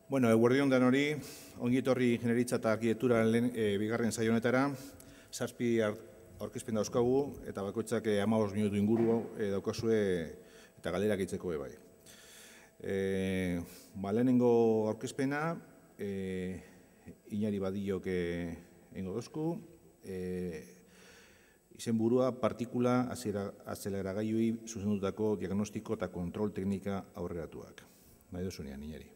Bueno, eguerdion danori, ongi etorri ingenieritza eta arkitektura bigarren saio honetara. 7 aurkezpen dauzkagu eta bakoitzak 15 minutu inguru daukazue eta galderak egiteko bai. Lehenengo aurkezpena, Inari Badillok egingo dozku. Izenburua partikula azeleragailuei zuzendutako diagnostiko eta kontrol teknika aurreratuak. Nahi duzunean, Inari.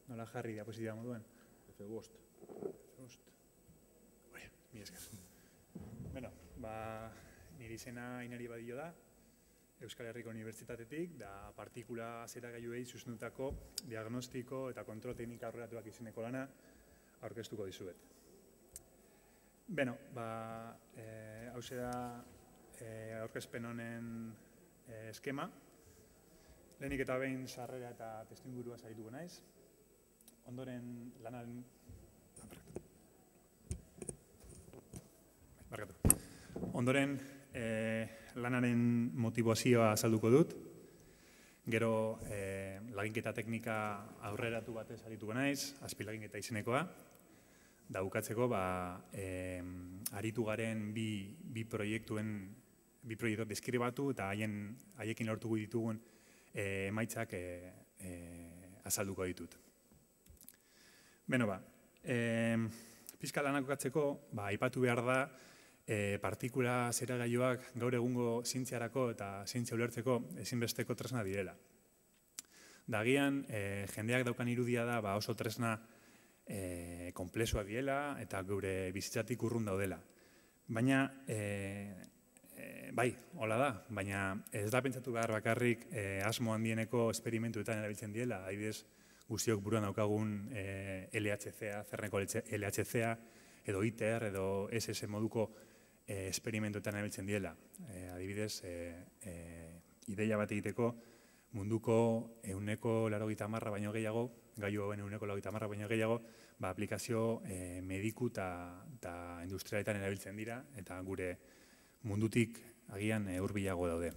Nola jarri diapositiba moduan? F5. Mi esker. Bueno, nire izena Inari Badillo da, Euskal Herriko Unibertsitatetik, da partikula azeleragailuei zuzendutako diagnostiko eta kontrol teknika aurreratuak izeneko lana aurkeztuko dizuet. Beno, hauxe da aurkezpen honen eskema. Lehenik eta behin sarrera eta testuingurua sarituko naiz. Ondoren lanaren motivazioa azalduko dut. Gero laginketa teknika aurreratu batez arituko naiz, azpilaginketa izenekoa. Da bukatzeko aritu garen bi proiektu deskribatu eta haiekin lortuko ditugun emaitzak azalduko ditut. Beno pixka lanak bukatzeko, aipatu behar da partikula azeleragailuak gaur egungo zientziarako eta zientzia ulertzeko ezinbesteko tresna direla. Dagian, jendeak daukan irudia da oso tresna konplexuak direla eta gure bizitzatik urrun daudela. Baina, hola da, baina ez da pentsatu behar bakarrik asmo handieneko esperimentuetan erabiltzen direla, adibidez, guztiok buruan daukagun LHCa, Cerneko LHCa, edo ITER, edo SS moduko esperimentuetan erabiltzen direla. Adibidez, ideia bat egiteko munduko 180 baino gehiago, gailu hauen 180 baino gehiago, aplikazio mediku eta industrialetan erabiltzen dira, eta gure mundutik agian hurbilago daude.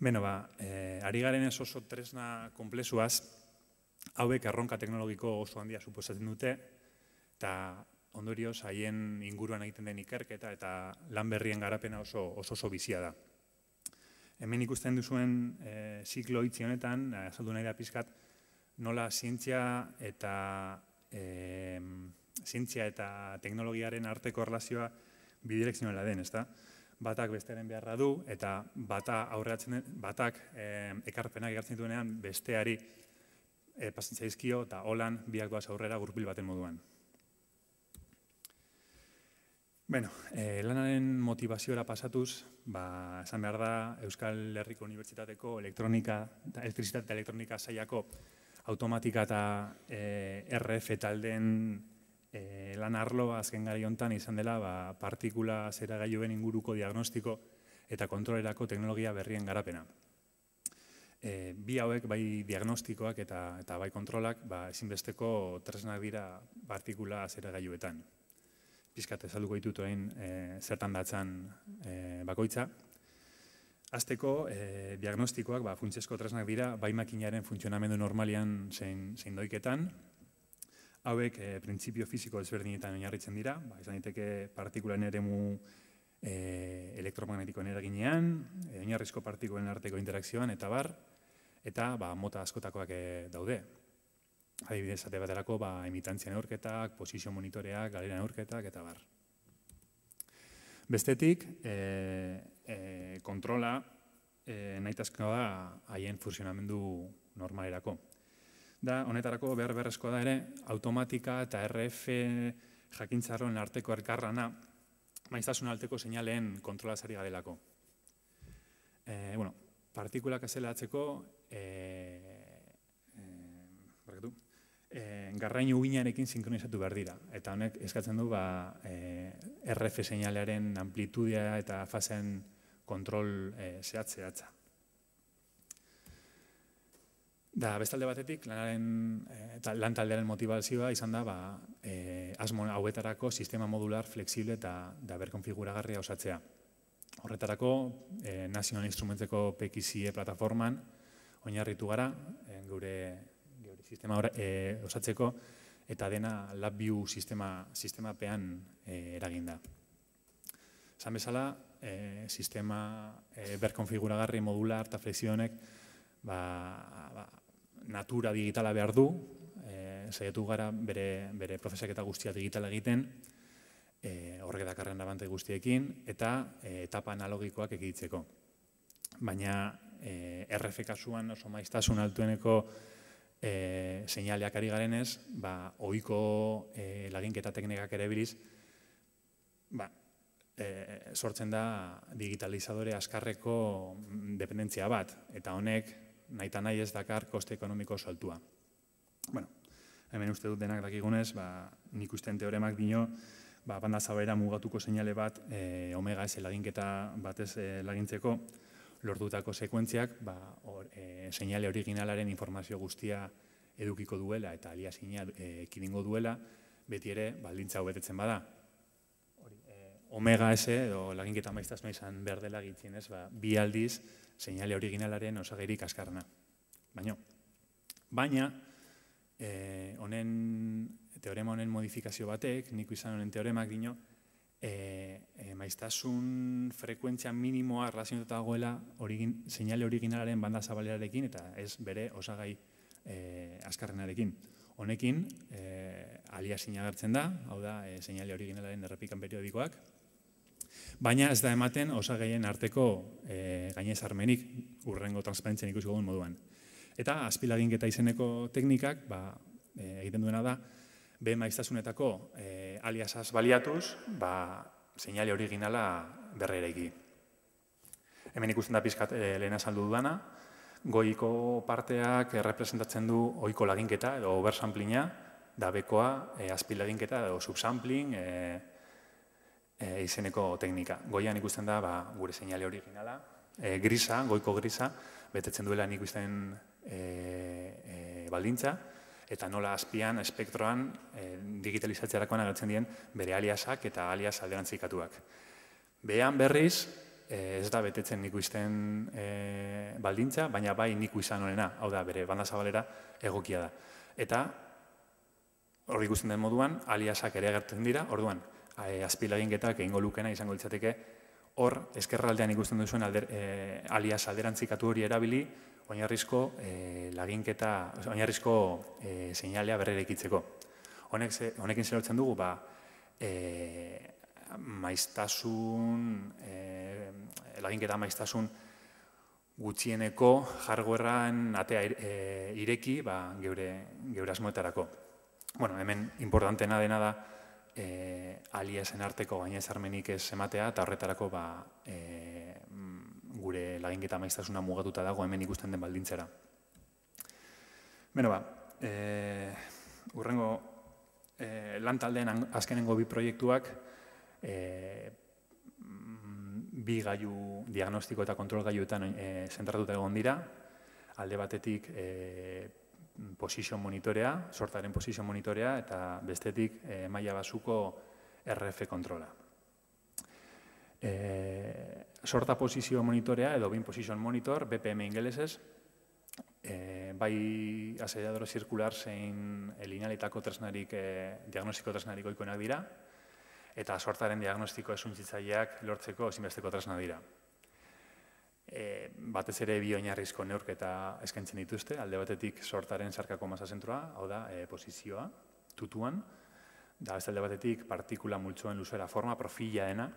Beno, ari garen ez oso tresna konplexuaz, hauek erronka teknologiko oso handia suposatzen dute, eta ondorioz haien inguruan egiten den ikerketa eta lan berrien garapena oso bizia da. Hemen ikusten duzuen ziklo itzi honetan, azaldu nahi da pixkat, nola zientzia eta teknologiaren arteko erlazioa bidirekzionala den, ezta? Batak bestearen beharra du, eta batak ekarpenak ekartzen duenean besteari pasintzaizkio eta holan biak doaz aurrera gurpil baten moduan. Beno, lanaren motivaziora pasatuz, esan behar da Euskal Herriko Unibertsitateko elektrizitate eta elektronika sailako automatika eta RF taldeen lan arloa azken gari honetan izan dela partikula azeleragailuen inguruko diagnostiko eta kontrolerako teknologia berrien garapena. Bi hauek, bai diagnostikoak eta bai kontrolak, ezinbesteko tresnak dira partikula azeleragailuetan. Pixkat azalduko ditut orain zertan datzan bakoitza. Hasteko, diagnostikoak funtsezko tresnak dira, bai makinaren funtzionamendu normalian zein doiketan. Hauek printzipio fisiko ezberdinetan oinarritzen dira, izan daiteke partikulen eremu elektromagnetikoen eraginean, oinarrizko partikulen arteko interakzioan eta eta mota askotakoak daude. Adibidez, esate baterako emitantzia neurketak, posizio monitoreak, galera neurketak eta bar. Bestetik, kontrola nahitazkoa da haien funtzionamendu normalerako. Honetarako beharrezkoa da ere, automatika eta RF jakintzarroen arteko elkarlana, maiztasun arteko seinalen kontrolazari garelako. Partikulak azaleratzeko garrainu uginarekin sinkronizatu behar dira. Eta honek eskatzen du RF seinalearen amplitudea eta fasen kontrol zehatza. Da, bestalde batetik, lan taldearen motivazioa izan da asmo hauetarako sistema modular, flexible eta berkonfiguragarria osatzea. Horretarako, National Instrumentseko PXIe plataforman oinarritu gara, gure sistema osatzeko, eta dena LabVIEW sistemapean eraginda. Esan bezala, sistema berkonfiguragarri, modular eta flexionek natura digitala behar du, saiatu gara bere prozesaketa guztia digitala egiten, horrek dakarren abante guztiekin, eta etapa analogikoak ekiditzeko. Baina RF kasuan oso maiztasun altueneko seinaleak ari garenez, ohiko laginketa teknikak ere biliz, sortzen da digitalizadore askarreko dependentzia bat, eta honek nahita nahi ez dakar koste ekonomiko saltua. Bueno, hemen uste dut denak dakigunez, nik usten teoremak dino, banda zabalera mugatuko seinale bat, omega S laginketa batez lagintzeko, lortutako sekuentziak, seinale originalaren informazio guztia edukiko duela eta aliasina ekidingo duela, beti ere baldintza hau betetzen bada. Omega S, edo laginketa maiztasuna izan behar dela gitzienez, bi aldiz seinale originalaren osagairik askarrena. Baina, teorema honen modifikazio batek, nik izan honen teoremak dino, maiztasun frekuentzia minimoa relazionatuta dagoela seinale originalaren banda zabalerarekin eta ez bere osagai askarrenarekin. Honekin, aliasina agertzen da, hau da, seinale originalaren errepikan periodikoak, baina ez da ematen osagaien arteko gainezarmenik hurrengo transparentzian ikusiko duen moduan. Eta azpilaginketa izeneko teknikak egiten duena da, B maiztasunetako aliasaz baliatuz, seinale originala berreraiki. Hemen ikusten da pizkat lehen azaldu dudana, goiko parteak representatzen du ohiko laginketa edo oversampling'a, da bekoa azpilaginketa edo subsampling izeneko teknika. Goian ikusten da gure seinale originala, grisa, goiko grisa, betetzen duela nik ikusten baldintza, eta nola azpian, espektroan, digitalizatzerakoan agertzen dien bere aliasak eta alias alderantzikatuak. Behan berriz, ez da betetzen nik ikusten baldintza, baina bai nik izan honena, hau da, bere banda zabalera egokia da. Eta hor ikusten den moduan, aliasak ere agertzen dira, orduan, azpilaginketak egingo lukena izango litzateke, hor, eskerraldean ikusten duzuen alias alderantzikatu hori erabili, oinarrizko laginketa, oinarrizko seinalea berrerekitzeko. Honekin zer dugu, maiztasun, laginketa maiztasun gutxieneko hardwarean atea ireki geure asmoetarako. Hemen importantena dena da aliasen arteko gainezarmenik ez ematea eta horretarako gure laginketa maiztasuna mugatuta dago hemen ikusten den baldintzera. Hurrengo lan taldeen azkenengo bi proiektuak bi gailu diagnostiko eta kontrol gailuetan zentratuta egon dira. Alde batetik position monitorea, sortaren position monitorea eta bestetik maila basuko RF kontrola. Sorta posizio monitorea edo bin position monitor, BPM ingelesez, bai asediadore zirkular zein linealitako tresnarik, diagnostiko tresnarik ohikoenak dira, eta sortaren diagnostiko esuntzaileak lortzeko ezinbesteko tresna dira. Batez ere bi oinarrizko neurketa eskaintzen dituzte, alde batetik sortaren zarkako masa zentroa, hau da, posizioa, tutuan, da beste alde batetik partikula multzoen luzera forma, profila dena,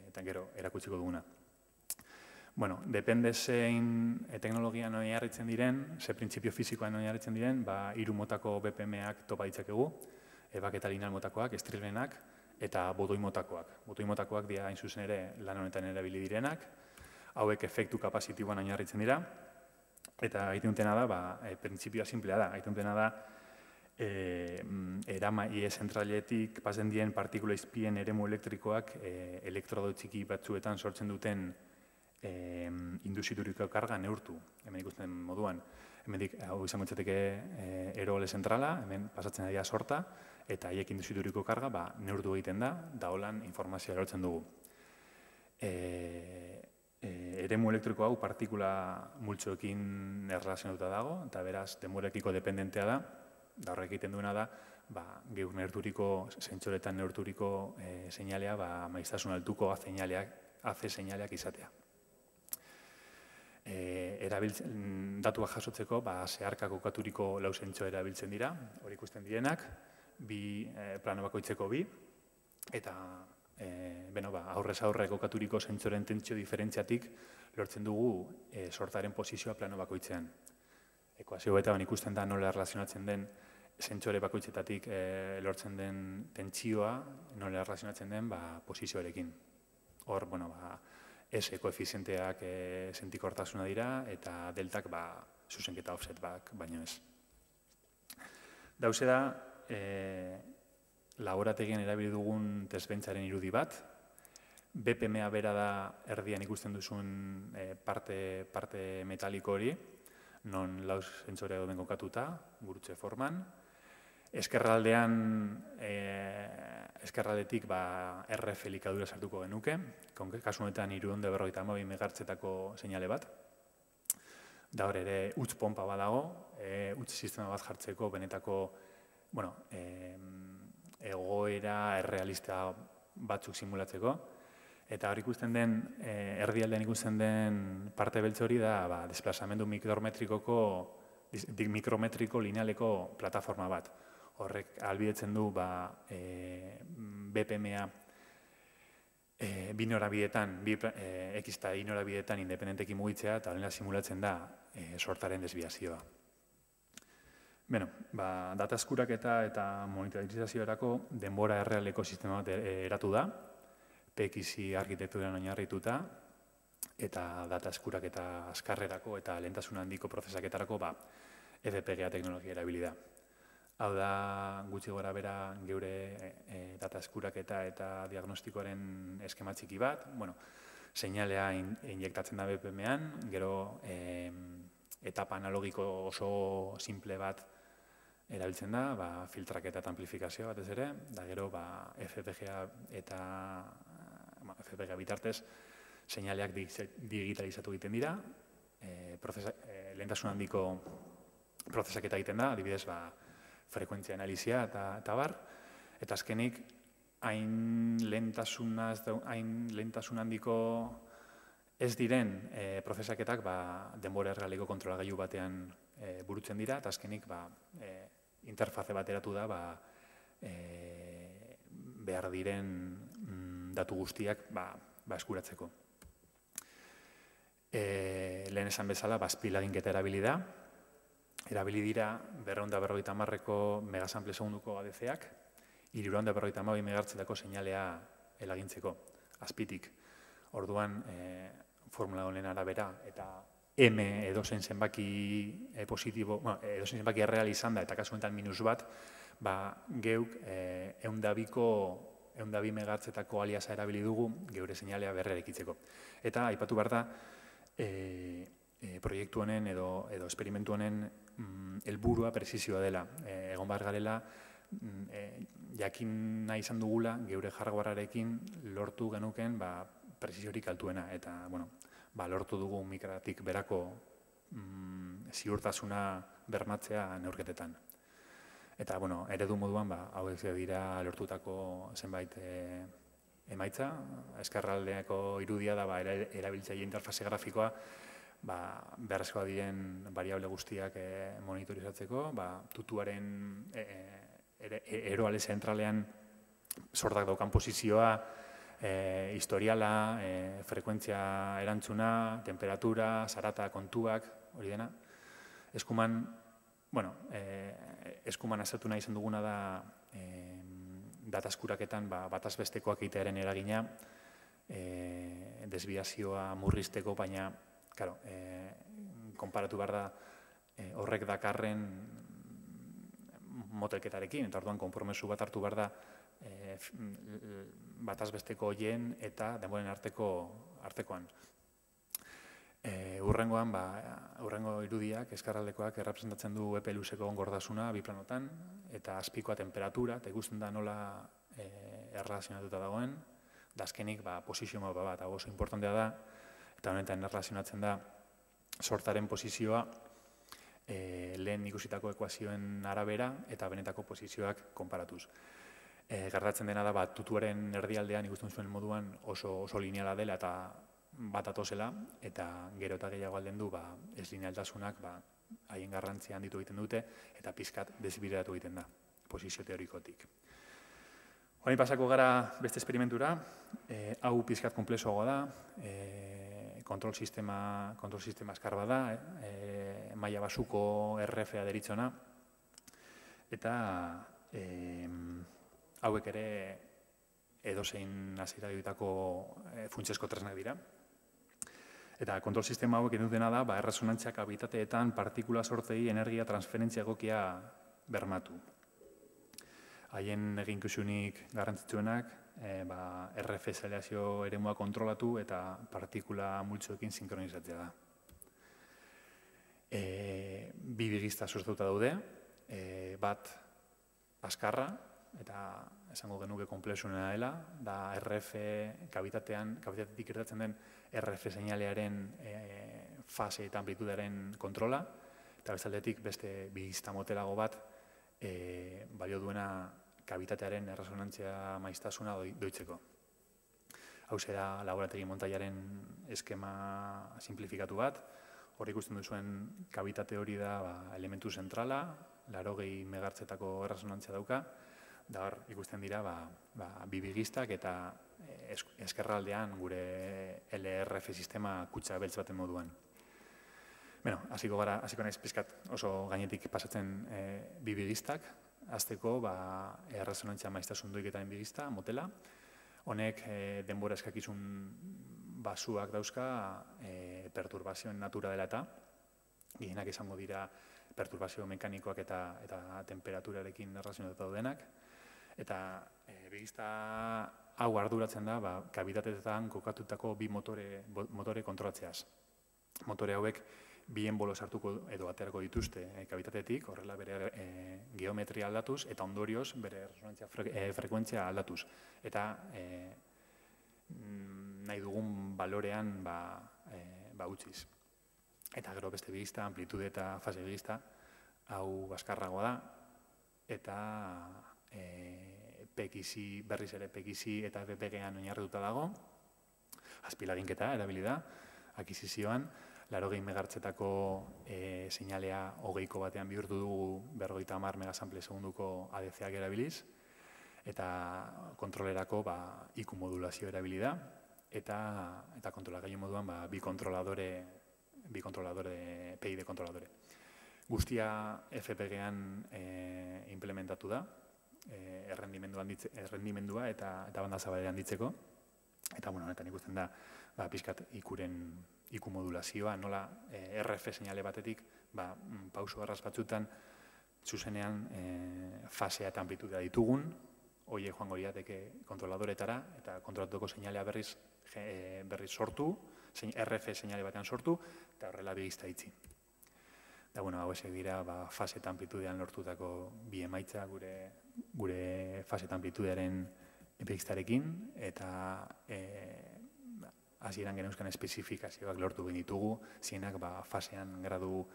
eta gero erakutsiko duguna. Depende zein teknologian oinarritzen diren, ze printzipio fizikoan oinarritzen diren, hiru motako BPM-ak topa ditzakegu, ebak eta lineal motakoak, estrilbenak, eta bodoi motakoak. Bodoi motakoak dira hain zuzen ere lan honetan erabili direnak, hauek efektu kapazitiboan oinarritzen dira, eta egiten dutena da, printzipioa simplea da, egiten dutena da, IE zentraletik pasen dien partikula izpien eremu elektrikoak elektrodo txiki batzuetan sortzen duten induzituriko karga neurtu, hemen ikusten moduan. Hemendik, hau izango litzateke Eroale zentrala, hemen pasatzen dira sorta, eta haiek induzituriko karga neurtu egiten da holan informazioa lortzen dugu. Eremu elektriko hau partikula multzoekin erlazionatuta dago, eta beraz, demu elektriko dependentea da horrek egiten duena da, geur neurturiko, zentsoretan neurturiko seinalea, maiztasun altuko AC seinaleak izatea. Datuak jasotzeko, zeharka kokaturiko lau zentso erabiltzen dira, hori ikusten direnak, plano bakoitzeko bi, eta aurrez aurre kokaturiko zentsoren tentsio diferentziatik lortzen dugu sortaren posizioa plano bakoitzean. Ekuazio betan ikusten da nola erlazionatzen den zentsore bakoitzetatik lortzen den tentsioa, nola erlazionatzen den posizioarekin. Hor, S koefizienteak sentikortasuna dira, eta deltak zuzenketa offset baino ez. Dauze da, laborategian erabili dugun testbentzaren irudi bat, BPMA bera da erdian ikusten duzun parte metaliko hori, non lau zentsore dauden kokatuta, gurutze forman. Eskerraldetik RF elikadura sartuko genuke, kasu honetan 352 megahertzetako seinale bat. Da hor ere, huts pompa badago, huts sistema bat jartzeko benetako egoera errealista batzuk simulatzeko. Eta hor ikusten den, erdialdean ikusten den parte beltz hori da desplazamendu mikrometriko linealeko plataforma bat. Horrek ahalbidetzen du BPMA bi norabidetan, X eta Y norabidetan independentekin mugitzea, eta horrela simulatzen da sortaren desbiazioa. Data eskuraketa eta monitorizazioarako denbora errealeko sistema bat eratu da, PXI arkitekturan oinarrituta, eta data eskuraketa azkarrerako eta lehentasun handiko prozesaketarako FPGA teknologia erabili da. Hau da, gutxi gora bera geure data eskuraketa eta diagnostikoaren eskema txiki bat. Seinalea injektatzen da BPM-an, gero etapa analogiko oso simple bat erabiltzen da, filtraketa eta amplifikazioa batez ere, da gero FPGA eta FPGA bitartez seinaleak digitalizatu egiten dira, lehentasun handiko prozesaketa egiten da, adibidez, frekuentzia analizia eta bar, eta azkenik, hain lehentasun handiko ez diren prozesaketak denbora errealiko kontrolagailu batean burutzen dira, eta azkenik interfaze bateratu da behar diren datu guztiak eskuratzeko. Lehen esan bezala, azpilaginketa erabili da. Erabili dira 250ko megasample segunduko ADC-ak, 352 megahertzetako seinalea elagintzeko, azpitik. Orduan, formula honen arabera, eta M edozein zenbaki positibo, edozein zenbaki erreal izan da, eta kasu honetan minus bat, geuk 102 megahertzetako aliasa erabili dugu geure seinalea berrerekitzeko. Eta, aipatu behar da, proiektu honen edo esperimentu honen helburua prezizioa dela. Egon behar garela, jakin nahi izan dugula, geure hardwarearekin lortu genuken preziziorik altuena. Eta, lortu dugu mikratik berako ziurtasuna bermatzea neurketetan. Eta, eredu moduan, hauek dira lortutako zenbait emaitza. Eskerraldeako irudia da erabiltzaile interfaze grafikoa beharrezkoa diren variable guztiak monitorizatzeko, tutuaren eroale zentralean sortak daukan posizioa, historiala, frekuentzia erantzuna, temperatura, zarata, kontuak, hori dena. Eskuman, eskuman aztertu nahi izan duguna da data eskuraketan bataz bestekoak egitearen eragina, desbiazioa murrizteko, baina konparatu behar da horrek dakarren motelketarekin, eta orduan konpromesu bat hartu behar da bataz besteko horien eta denboren artekoan. Urrengo irudiak, eskarraldekoak errepresentatzen du epe luzeko gordasuna bi planotan, eta azpikoa temperatura, eta ikusten da nola erlazionatuta dagoen, da azkenik posizio mapa bat, oso importantea da, eta honetan erlazionatzen da sortaren posizioa lehen ikusitako ekuazioen arabera eta benetako posizioak konparatuz. Gertatzen dena da, tutuaren erdialdean ikusten zuen moduan oso lineala dela eta bat atozela, eta gero eta gehiago alden du ez linealtasunak haien garrantzia handitu egiten dute eta pizkat desbideratu egiten da, posizio teorikotik. Horain pasako gara beste esperimentura, hau pizkat konplexuagoa da, kontrol sistema azkar bat da, maila basuko RF-a deritzona, eta hauek ere edozein hasiera ditako funtsezko tresnak dira. Eta kontrol sistema hauek egin dutena da, erresonantziak habitateetan partikula sortzei energia transferentzia egokia bermatu. Haien eginkizunik garrantzitsuenak, RF seleazio eremua kontrolatu eta partikula multzoekin sinkronizatzea da. Bi bigizta sortuta daude, bat azkarra, eta esango genuke konplexuena dela, da RF kabitatetik irtetzen den RF seinalearen fase eta amplitudearen kontrola, eta bestaldetik beste bigizta motelago bat balio duena kabitatearen erresonantzia maiztasuna doitzeko. Hau zera laborategi montaiaren eskema simplifikatu bat, hor ikusten duzuen kabitate hori da elementu zentrala, 80 megahertzetako erresonantzia dauka, da hor ikusten dira bi bigistak eta eskerraldean gure LRF sistema kutsa beltz baten moduan. Hasiko naiz pizkat oso gainetik pasatzen bi bigistak, hasteko erresonantzia maiztasun doiketaren bigista, motela. Honek denbora eskakizun basuak dauzka perturbazioen natura dela eta gehienak izango dira perturbazio mekanikoak eta temperaturarekin erlazionatuta daudenak. Eta bigista hau arduratzen da kabitateetan kokatutako bi motore kontrolatzeaz. Motore hauek bi enbolo sartuko edo aterako dituzte kabitatetik, horrela bere geometria aldatuz eta ondorioz bere resonantzia frekuentzia aldatuz. Eta nahi dugun balorean utziz. Eta gero beste bigista, amplitude eta fase bigista, hau azkarragoa da, eta berriz ere PXI eta BPG-an oinarrituta dago, azpilaginketa erabili da, akizizioan, 80 megahertzetako seinalea 20ko batean bihurtu dugu 50 megasample segunduko ADC-ak erabiliz, eta kontrolerako IQ modulazio erabili da, eta kontrolagailu moduan bi kontroladore, PID kontroladore. Guztia FPG-an implementatu da, errendimendua eta banda zabalean handitzeko. Eta honetan ikusten da pixkat IQ modulazioa, nola RF seinale batetik pauso arras batzutan zuzenean fasea eta amplitudea ditugun, horiek joango lirateke kontroladoretara eta kontrolatuko seinalea berriz sortu, RF seinale batean sortu, eta horrela bigizta itzi. Eta hauek dira fase eta amplitudean lortutako bi emaitza gure fase eta amplitudearen bigiztarekin, eta hasieran geneuzkan espezifikazioak lortu ditugu, zienak fasean gradu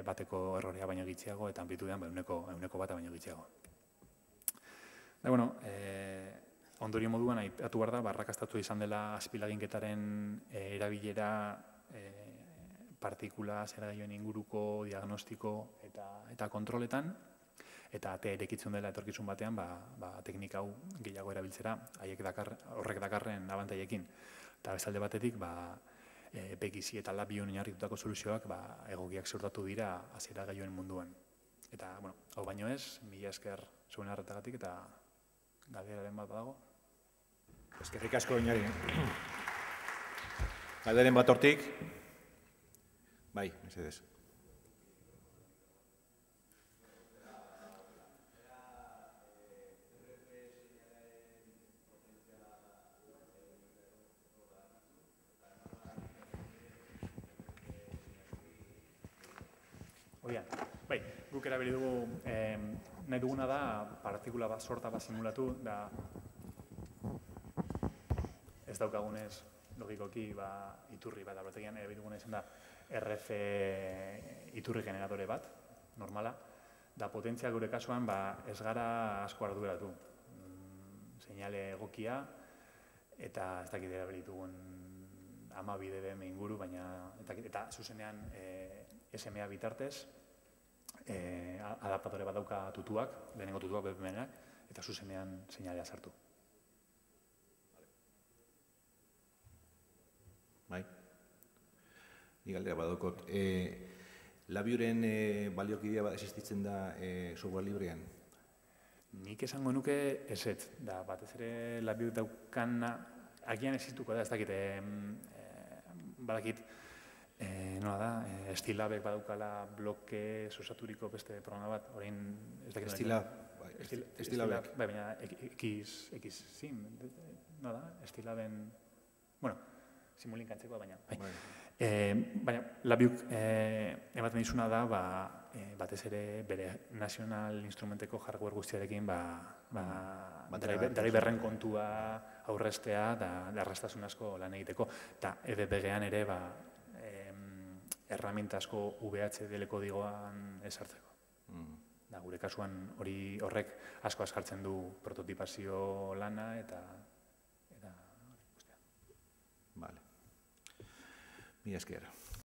bateko errorea baino gitxiago eta amplitudean ehuneko bata baino gitxiago. Ondorio moduan aipatu behar da, arrakastatu izan dela azpilaginketaren erabilera partikula zeragailuen inguruko diagnostiko eta kontroletan, eta atea irekitzen dela etorkizun batean teknika hau gehiago erabiltzera, horrek dakarren abantaiekin. Eta bestalde batetik, PXI eta LabVIEWn oinarritutako soluzioak egokiak ziurtatu dira azieragailuen munduan. Eta, hau baino ez, mila esker zuen arretagatik eta galderaren bat badago. Eskerrik asko oinari. Galderen bat hortik. Bai, mesedez. Oian, bai, guk erabili dugu, nahi duguna da partikula bat, sorta bat simulatu, da ez daukagunez, logikoki, iturri bat, abrotegian, erabili duguna izan da RF iturri generatore bat, normala, da potentzia gure kasuan ez gara asko arduratu. Seinale egokia, eta ez dakit erabili dugun 12 dBm inguru, baina eta zuzenean SMA bitartez, adaptatore bat dauka tutuak, lehenengo tutuak BPM-enak, eta zuzenean seinalea sartu. Bai. Ni galdera badokot. Labiuren baliokidea bat existitzen da software librean? Nik esango nuke ezetz, da batez ere Labiu daukana, agian existuko da, ez dakit, badakit, nola da, Estilabek badaukala bloke osaturiko beste programa bat, orain ez dakit. Estilabek. Bai, baina X-Sim, nola da, Estilaben, bueno, simulinkantzeko, baina. Baina, Labiuk ematen dizuna da, batez ere bere nazional instrumenteko hardware guztiarekin driverren kontua aurrestea da erraztasun asko lan egiteko. Eta EDPG-an ere erraminta asko VHDL kodigoan ezartzeko. Gure kasuan horrek asko azkartzen du prototipazio lana eta guztia. Vale. Mila esker.